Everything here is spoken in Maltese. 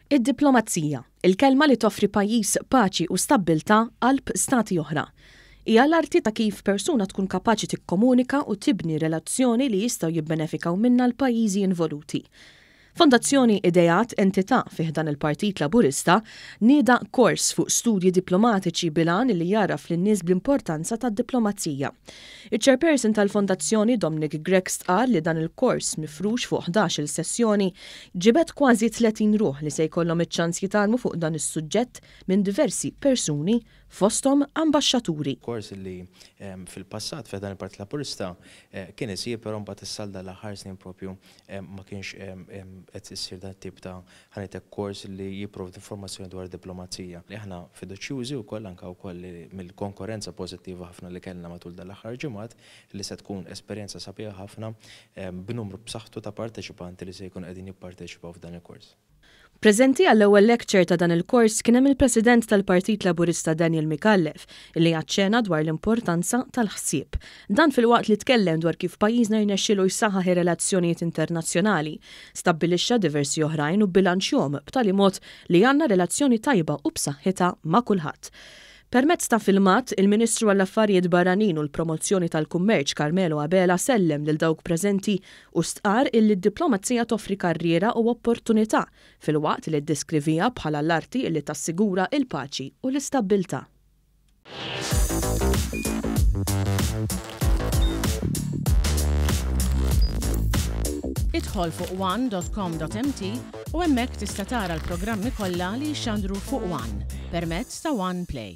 Id-diplomazija, il-kelma li toffri pajjiż paċi u stabbiltà qalb stati oħra. Hija l-arti ta' kif persuna tkun kapaċi tikkomunika u tibni relazzjoni li jistgħu jibbenefikaw minnha l-pajjiżi involuti. Fondazzjoni Ideat, entità fi ħdan il-Partit Laburista, nieda kors fuq studji diplomatiċi bil-għan li jgħarraf lin-nies bl-importanza tad-diplomazija. Iċ-Chairperson tal-Fondazzjoni Dominic Grech stqarr li dan il-kors mifrux fuq 11-il sessjoni ġibed kważi 30 ruħ li se jkollhom iċ-ċans jitgħallmu fuq dan is-suġġett minn diversi persuni fosthom ambaxxaturi. Kors li fil-passat fi ħdan il-Partit Laburista kien isir però mbagħad issa għal dan l-aħħar snin propju ma kienx qed issir dan it-tip ta' ħa ngħid hekk kors li jipprovdi informazzjoni dwar id-diplomazija. Aħna fiduċjużi wkoll anke wkoll li mill-konkorrenza pożittiva ħafna li kellna matul dan l-aħħar ġimgħat li se tkun esperjenza sabiħa ħafna b'numru b'saħħtu ta' parteċipanti li se jkunu qegħdin jipparteċipaw f'dan il-kors. Preżenti għall-ewwel lecture ta' dan il-kors kien hemm il-President tal-Partit Laburista Daniel Micallef li aċċena dwar l-importanza tal-ħsieb. Dan filwaqt li tkellem dwar kif pajjiżna rnexxielu jsaħħaħ ir-relazzjonijiet internazzjonali, stabbilixxa diversi oħrajn u bbilanċjhom b'tali mod li għandna relazzjoni tajba u b'saħħitha ma' kulħadd. Permezz ta' filmat, il-Ministru għall-Affarijiet Barranin u l-Promozzjoni tal-Kummerċ Carmelo Abela sellem lil dawk preżenti u stqarr illi d-diplomazija toffri karriera u opportunità filwaqt li ddeskriviha bħala l-arti illi tassigura il-paċi u l-istabbiltà. Idħol fuq one.com.mt u hemmhekk tista' tara l-programmi kollha li jixxandru fuq One permezz ta' One Play.